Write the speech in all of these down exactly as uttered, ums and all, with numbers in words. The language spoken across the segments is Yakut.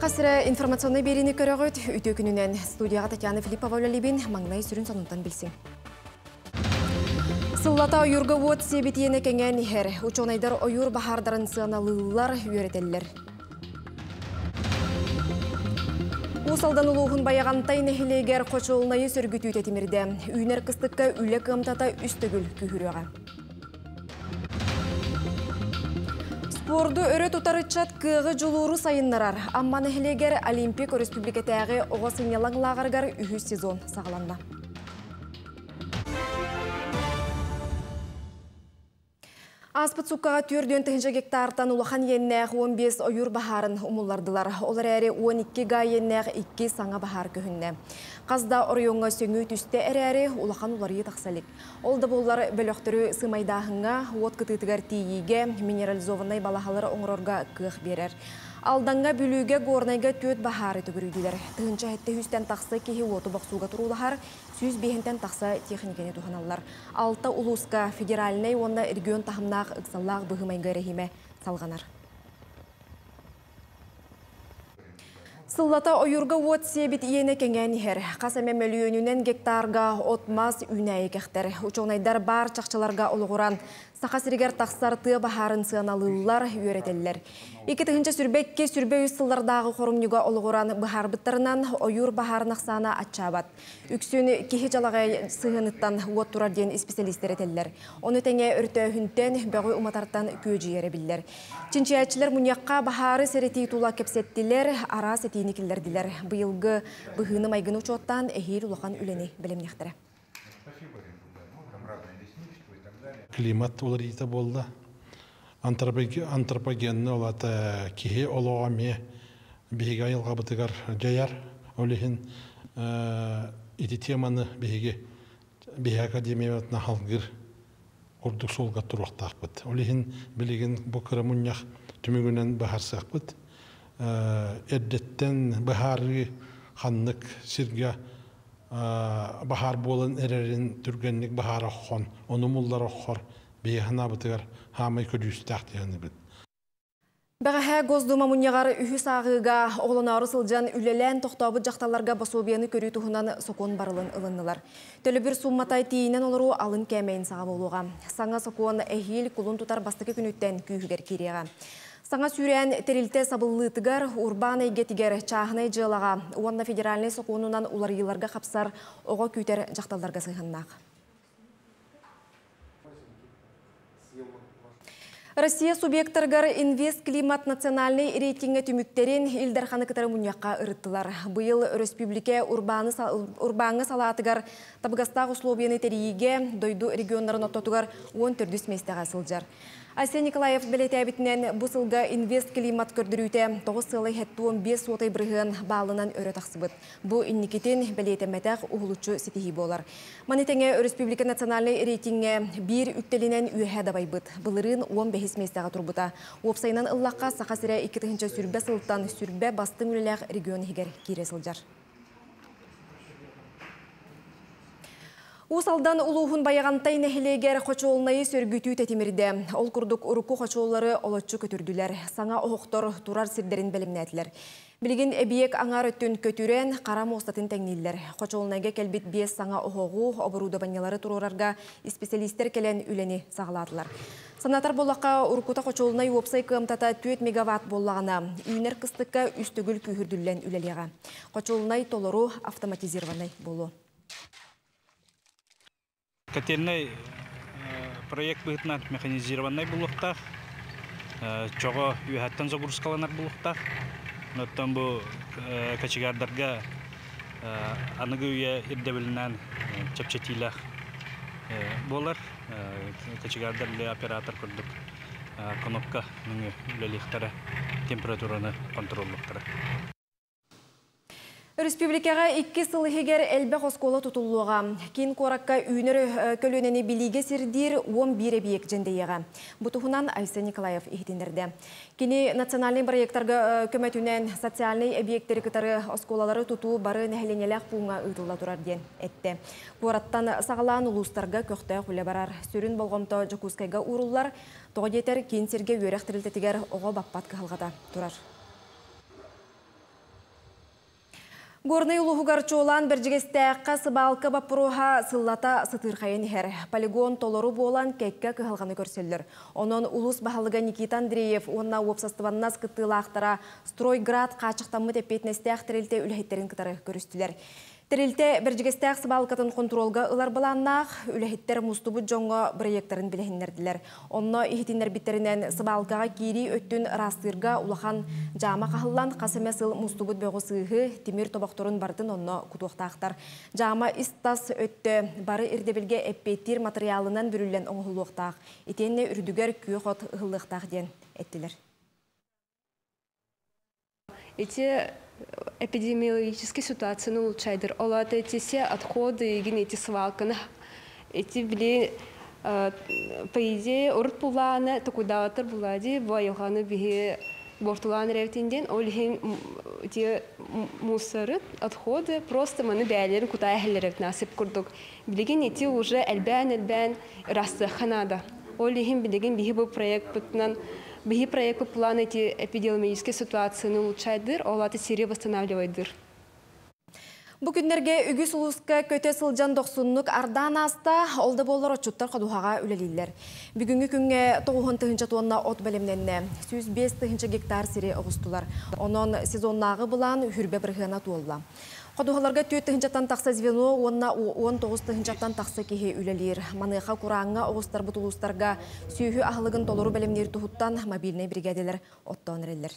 Саха сирэ информационнай биэриини көрөҕүт. Үтүө күнүнэн. Студияҕа Татьяна Филиппова үлэлиибин. Маҥнай сүрүн сонунтан билсиҥ. Сыллата ойуурга уот сиэбит иэнэ кэҥээн иһэр. Учуонайдар ойуур баһаардарын сыаналыыллар, үөрэтэллэр. Уус Алдан улууһун Байаҕантай нэһилиэгэр хочуолунайы сөргүтүү тэтимирдэ. Үүнэр кыстыкка үлэ кыамтата үс төгүл күүһүрүөҕэ. Спорду өрө тутар ыччат кыаҕы дьулууру сайыннарар. Амма нэһилиэгэр Олимпик өрөспүүбүлүкэтээҕи оҕо сынньалаҥ лааҕырыгар үһүс сезон саҕаланна. Ааспыт сууккаҕа түөрт тыһыынча гектартан улахан иэннээх уон биэс ойуур баһаарын умуллардылар. Ол эрээри уон икки га иэннээх икки саҥа баһаар көһүннэ. Хас да оройуоҥҥа сөҥүү түстэ эрээри улахан уларыйыы тахса илик. Ол да буоллар бөлөхтөрү сымайдааһыҥҥа, уот кытыытыгар тиийиигэ, минерализованнай балаһалары оҥорорго кыах биэрэр. Алдаҥҥа, Бүлүүгэ, Горнайга түөрт баһаары төгүрүйдүлэр. Тыһыынча сэттэ сүүстэн тахса киһи уоту бохсууга туруулаһар, сүүс биэһинтэн тахса техниканы туһаналлар. Алта улууска федеральнай уонна регион таһымнаах ыксаллаах быһыы-майгы эрэһиимэ салҕанар. Сыллата ойуурга уот сиэбит иэнэ кэҥээн иһэр. Хас эмэ мөлүйүөнүнэн гектарга от-мас үүнээйи кэхтэр. Учуонайдар баар чахчыларга олоҕуран Саха сиригэр тахсар тыа баһаарын сыаналыыллар, үөрэтэллэр. Икки тыһыынча сүүрбэ икки сүүрбэ үс сыллардааҕы хорумньуга олоҕуран быһаарбыттарынан ойуур баһаарын ахсаана аччаабат. Үксүн киһи дьалаҕай сыһыаныттан уот турар диэн исписэлиистэр этэллэр. Ону тэҥэ өртөөһүнтэн, бөҕү уматартан күөдьүйэрэ биллэр. Чинчийээччилэр мунньахха баһаары сэрэтии тула кэпсэттилэр, араас этиини киллэрдилэр. Быйылгы быһыыны-майгыны учуоттаан эһиил улахан үлэни бэлэмниэхтэрэ. Климат уларыйыыта буолла. Антропогенный ол аата киһи олоҕо эмиэ биһиги айылҕабытыгар дьайар. Ол иһин ити теманы биһиги биһи академиябытына халгыр курдук суолга туруохтаахпыт. Ол иһин билигин бу кыра мунньах түмүгүнэн быһаарсыахпыт. Эрдэттэн быһаарыы ханнык сиргэ баһаар буолан эрэрин түргэнник баһаар оххон, ону муллар оххор биһи ханаабытыгар хаамай көдьүүстээх диэхинибит. Бэҕэһээ Госдума мунньаҕар үһүс ааҕыыга оҕолоноору сылдьан үлэлээн тохтообут дьахталларга босуобуйаны көрүү туһунан сокуон барылын ылыннылар. Төлөбүр суумматай тиийинэн олоруу алын кээмэйин саҕа буолуоҕа. Саҥа сокуон эһиил кулун тутар бастакы күнүттэн күүһүгэр киириэҕэ. Саҥа сүүрээн тэрилтэ сабыллыытыгар, урбаан эйгэтигэр, чааһынай дьыалаҕа уонна федеральнай сокуонунан уларыйыыларга хапсар оҕо күүтэр дьахталларга сыһыаннаах. Россия субъекттарыгар Инвест климат национальнай рейтингэ түмүктэрин Ил Дарханы кытары мунньахха ырыттылар. Быйыл өрөспүүбүлүкэ урбааҥҥа салаатыгар табыгастаах условияны тэрийиигэ дойду регионнарын ортотугар уон төрдүс миэстэҕэ сылдьар. Айсен Николаев бэлиэтээбитинэн бу сылга Инвест климат көрдөрүүтэ тоҕус сыалай сэттэ уон биэс суотай бырыһыан баалынан өрө тахсыбыт. Бу инникитин бэлиэтэммэтэх уһулуччу ситиһии буолар. Маны тэҥэ өрөспүүбүлүкэ национальнай рейтингэ биир үктэлинэн үөһэ дабайбыт. Былырыын уон бэһис миэстэҕэ турбута. Уопсайынан ыллахха Саха сирэ икки тыһыынча сүүрбэ сылтан сүүрбэ бастыҥ үлэлээх регион иһигэр киирэ сылдьар. Уус Алдан улууһун Байаҕантай нэһилиэгэр хочуолунайы сөргүтүү тэтимирдэ. Ол курдук урукку хочуоллары олоччу көтүрдүлэр. Саҥа оһохтор турар сирдэрин бэлэмнээтилэр. Билигин эбийиэк аҥаар өттүн көтүрэн, хара муостатын тэҥнииллэр. Хочуолунайга кэлбит биэс саҥа оһоҕу, оборудованиелары туруорарга исписэлиистэр кэлэн үлэни саҕалаатылар. Санатар буоллахха, уруккута хочуолунай уопсай кыамтата түөрт мегаватт буоллаҕына, үүнэр кыстыкка үс төгүл күүһүрдүллэн үлэлиэҕэ. Хочуолунай толору автоматизированнай буолуо. Котельный проект быһыытынан механизированный булуохтаах, чоҕо үөһэттэн загрузкаланар булуохтаах. Оттон бу кочегардарга аныгы үйэ ирдэбилинэн чэпчэтиилээх буолар. Кочегардар оператор курдук кнопка үлэлиэхтэрэ, температураны контроллуохтара. Республикаҕа икки сыл иһигэр элбэх оскуола тутуллуоҕа. Киин куоракка үүнэр көлүөнэни билиигэ сирдиир уон биир эбийиэк дьэндэйиэҕэ. Бу туһунан Айсен Николаев иһитиннэрдэ. Кини национальнай проекттарга көмөтүнэн социальнай эбийиэктэри кытары оскуолалары тутуу бары нэһилиэнньэлээх пууҥҥа ыытылла турар диэн этте. Куораттан саҕалаан улуустарга көхтөөх үлэ барар. Сүрүн болҕомто Дьокуускайга ууруллар. Тоҕо диэтэр киин сиргэ үөрэх тэрилтэтигэр оҕо баппат кыһалҕата турар. Горнай улууһугар, чуолаан Бэрдьигэстээххэ сыбаалка боппуруоһа сыллата сытыырхайан иһэр. Полигон толору буолан кэккэ кыһалҕаны көрсөллөр. Онон улуус баһылыга Никита Андреев уонна уопсастыбаннас кыттыылаахтара Стройград хааччахтаммыт эппиэтинэстээх тэрилтэ үлэһиттэрин кытары көрүстүлэр. Тэрилтэ Бэрдьигэстээх сыбаалкатын хонтуруолга ылар былааннаах. Үлэһиттэр мустубут дьоҥҥо бырайыактарын билиһиннэрдилэр. Онно иһитиннэрбиттэринэн, сыбаалкаҕа киирии өттүн ыраастыырга улахан дьаама хаһыллан, хас эмэ сыл мустубут бөҕү-сыыһы, тимир тобохторун барытын онно кутуохтаахтар. Дьаама ис-тас өттө бары ирдэбилгэ эппиэттиир матырыйаалынан бүрүллэн оҥоһуллуохтаах. Итиэннэ үрдүгэр күөх от ыһыллыахтаах диэн эттилэр. Эти эпидемиологические ситуацияны улучшайдыр. Ол аата эти все отходы, эти свалканы, эти били, по идее, урут булааны, токудаатыр булади, бу айылҕаны биһи бортулаан эрэбитинден, ол иһин те мусоры, отходы просто маны бээлерин кутаа эхеллеребит насып курдук. Билигин эти уже элбээн-элбээн ырастыахха наада. Ол иһин билигин биһи бу проект бытынан биһи проект план эти эпидемиологические ситуацияны улучшайдыр, ол аты сири восстанавливайдыр. Бу күннэргэ үгүс улууска көтө сылдьан дохсуннук ардаан ааста, ол да буоллар отчуттар ходуһаҕа үлэлииллэр. Бүгүҥҥү күҥҥэ тоҕус тыһыынча туонна от бэлэмнэннэ, сүүс биэс тыһыынча гектар сири оҕустулар. Онон сезоннааҕы былаан сүүрбэ бырыһыана туолла. Ходуһаларга түөрт тыһыынчаттан тахса звено уонна уон тоҕус тыһыынчаттан тахса киһи үлэлиир. Маныаха курааҥҥа оҕустарбыт улуустарга сүөһү аһылыгын толору бэлэмниир туһуттан мобильнай биригээдэлэр оттоон эрэллэр.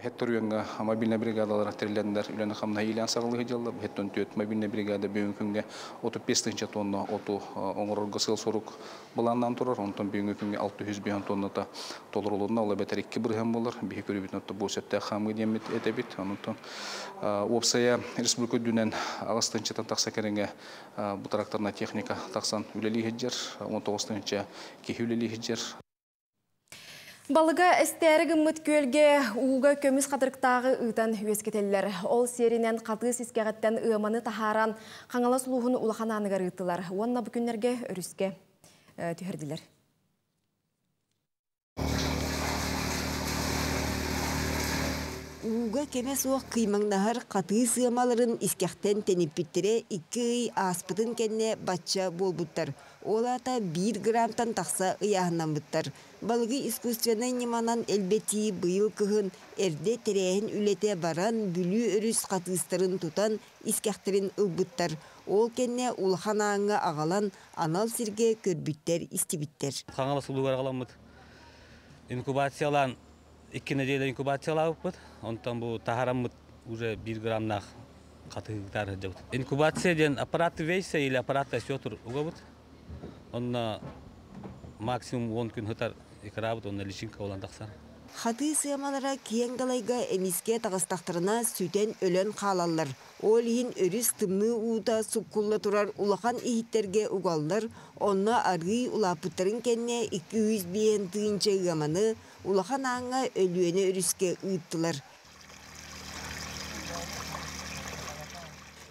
Хетторуенга мобильный бригадалар терилендер үлени хамна илен сагылы жылы хеттон төт мобильный бригада бүгүнкү күнгө отуз бес тыһыынча тонна оту оңорорго сыл сорук былаандан турар. Онтон бүгүнкү күнгө алты жүз беш тонната толорулунна, ол бетер эки бырыһан болор. Биһи көрүбүт отто бу септэ хамы диэмит этебит. Онтон опсая республика дүнен агыс тыһыынчатан тахса кереңе бу тракторна техника таксан үлели хеджер, он тогуз тыһыынча киһи үлели хеджер. Балыга эстээри гыммыт күөлгэ ууга көмүс хатырыктааҕы ыытан үөскэтэллэр. Ол сиэринэн хатыы сискэҕиттэн ыаманы таһааран Хаҥалас улууһун улахан ааныгар ыыттылар. Уонна бу күннэргэ өрүскэ түһэрдилэр. Ууга кеме суох кыймаҥнаһар хатыы сыамаларын искэхтэн тэниппиттерэ икки ый ааспытын кэннэ бачча буолбуттар. Ол аата биир грамтан тахса ыйааһыннаммыттар. Балыгы искусственнай ньыманан элбэтии быйыл кыһын эрдэ тэрээһин үлэтэ баран Бүлүү өрүс хатыыстарын тутан искэхтэрин ылбыттар. Ол кэннэ улахан ааҥҥа аҕалан анал сиргэ көрбүттэр истибиттэр. Хаҥалас улуугар аҕаламмыт инкубациялаан икки неделя инкубациялаабыппыт. Онтон бу таһараммыт уже бир грамнаах хатыгытар сылдьабыт. Инкубация диэн аппарат вейсе или аппарат осетр угабыт. Онно максимум он күн хытар икрабыт, онно личинка болан тахсар. Хатыы сыамалара киэҥ далайга эмискэ таҕыстахтарына сүтэн өлөн хаалаллар. Ол иһин өрүс тымныы уута суккулла турар улахан иһиттэргэ угаллар, онно арыы улааппыттарын кэннэ икки жүз биэн тыынча ыаманы улахан ааҥҥа Өлүөнэ өрүскэ ыыттылар.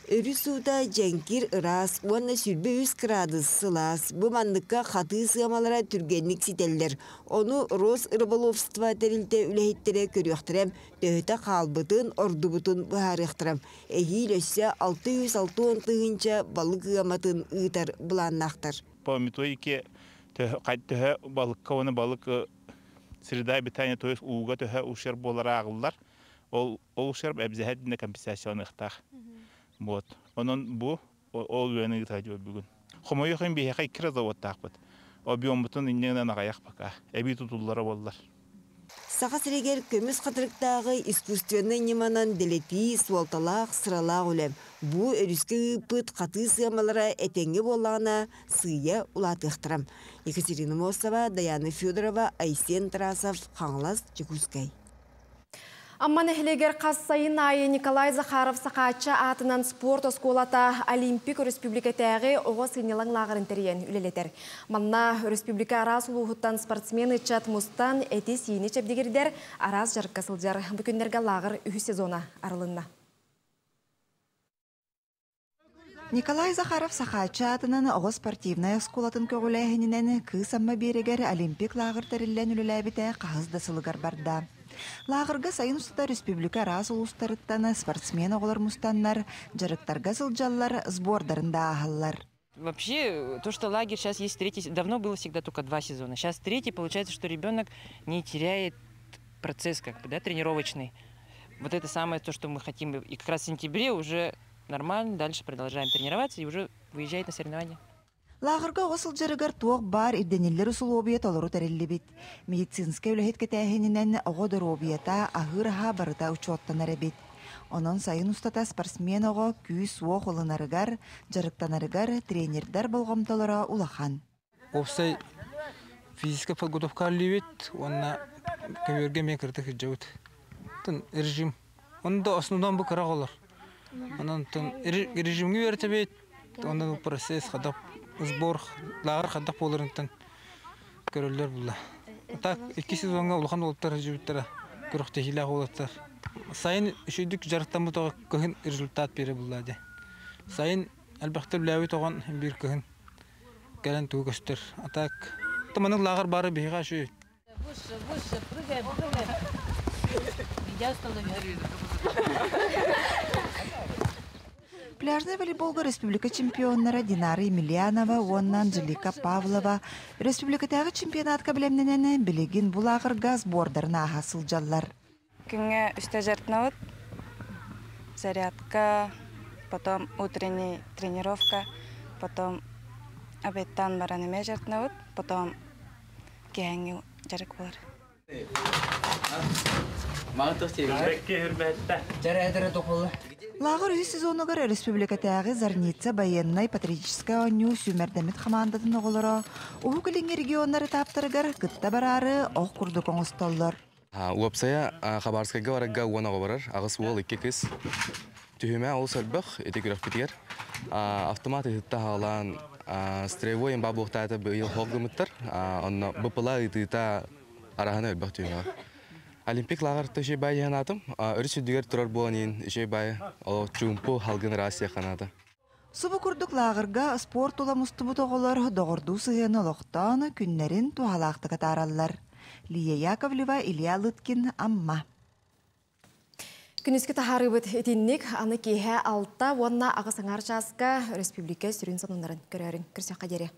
Өрүс уута дьэҥкир ыраас уонна сүүрбэ үс градус сылаас. Бу манныкка хатыы сыамалара түргэнник ситэллэр. Ону Росрыболовство тэрилтэ үлэһиттэрэ көрүөхтэрэ, төһөтө хаалбытын, ордубутун быһаарыахтара. Эһиил өссө алты жүз алты он тыһыынча балык ыаматын ыытар былааннаахтар. По методике төһө балыкка уонна балык среда обитания, то есть ууга төһө ущерб буолар ааҕыллар. Ол ущерб обязательно компенсацияланыахтаах. Вот. Онон бу ол үөні ыытаачы бүгүн. Хомойуох биһиэхэ икки заводтаахпыт. Объеммутун иннинэн аҕайах пока. Эбии тутуллара буоллар. Саха сиригэр көмүс хатырыктааҕы искусственнай ньыманан дэлэтии суолталаах сыралаах үлэ. Бу өрүскэ ыыппыт хатыы сыамалара этэҥҥэ буоллаҕына сыыйа улаатыахтара. Екатерина Мосова, Даяна Федорова, Айсен Тарасов, Хаҥалас, Дьокуускай. Амма нэһилиэгэр хас сайын аайы Николай Захаров Сахаачча аатынан спорт оскуолата Олимпик республикатааҕы оҕо сынньалаҥ лааҕырын тэрийэн үлэлэтэр. Манна республика араас улууһуттан спортсмен ыччат мустан эти сиини чэбдигирдэр араас дьарыкка сылдьар. Бу күннэргэ лааҕыр үһүс сезона арылынна. Николай Захаров Сахаачча аатынан оҕо спортивнай оскуолатын көҕүлээһининэн Кыыс Амма биэрэгэр Олимпик лааҕыр тэриллэн үлэлээбитэ хаһыс да сылыгар барда. Лааҕырга сайын устата республика араас улуустарыттан спортсмен оҕолор мустаннар, дьарыктарга сылдьаллар, сбордарын да ааһаллар. Вообще, то, что лагерь сейчас есть третий, давно было всегда только два сезона. Сейчас третий, получается, что ребенок не теряет процесс, как бы, да, тренировочный. Вот это самое то, что мы хотим. И как раз в сентябре уже нормально, дальше продолжаем тренироваться и уже выезжает на соревнования. Лааҕырга оҕо сылдьарыгар туох баар ирдэниллэр усулуобуйа толору тэриллибит. Медицинскэй үлэһит кэтээһининэн оҕо доруобуйата, аһыыр аһа барыта учуоттанар эбит. Онон сайын устата спортсмен оҕо күүс-уох ылынарыгар, дьарыктанарыгар тренердэр болҕомтолоро улахан. Уопсай физическая подготовка үлэлиибит, уонна көбүөргэ эмиэ кыратык сылдьабыт. Режим. Онда основном бу кыра оҕолор. Онон режимҥэ үөрэтэбит, онон процесс хайдах сбор лааҕыр хайдах буоларыттан көрөллөр буолла. Так икки сезоҥҥа улахан уолаттар сылдьыбыттара, күрэхтэһиилээх уолаттар. Сайын үчүгэйдик дьарыктаммыт оҕо кыһын результат биэрэр буолла дии. Сайын элбэхтэ үлэлээбит оҕо биир кыһын кэлэн тугу көстөр. А так маннык лааҕыр баара биһиэхэ үчүгэй. Выше, выше, прыгаем, прыгаем. Меня останови. Пляжнай волейболга республика чемпионнара Динара Емельянова уонна Анжелика Павлова республикатааҕы чемпионатка бэлэмнэнэн билигин бу лааҕырга сбордарын ааһа сылдьаллар. Күҥҥэ үстэ дьарыктанабыт. Зарядка, потом утренний тренировка, потом обедтан баран эмиэ дьарыктанабыт, потом киэһээҥҥи дьарык буолар. Лааҕыр үһүс сезонугар республикатааҕы Зарница байыаннай патриотическай оонньуу сүүмэрдэммит хамаандатын оҕолоро Уһук Илиҥҥи регионнар этаптарыгар кытта бараары ох курдук оҥостоллор. Уопсайа Хабаровскайга барарга уон оҕо барар, аҕыс уол, икки кыыс. Түһүмэ олус элбэх, ити күрэхпитигэр. Автомат ыһытта хаалаан строевой эмба буохтаата быйыл хоох гымыттар. Онно БПЛА ыытыыта араһана элбэх түһүмэ. Олимпик лааҕыр үчүгэй баҕайы санаатым. Өрүс үрдүгэр турар буолан иһин үчүгэй баҕайы ол чуумпу халгын ыраас ханаата. Субу курдук лааҕырга спорт тула мустубут оҕолор доҕордуу сыһыаны олохтоон күннэрин туһалаахтык атаараллар. Лия Яковлева, Илья Лыткин, Амма. Күнүскү таһаарыыбыт итинник аны киэһэ алта уонна аҕыс аҥаар чааска республика сүрүн сонуннарын көрөөрүҥ. Көрсүөххэ диэри.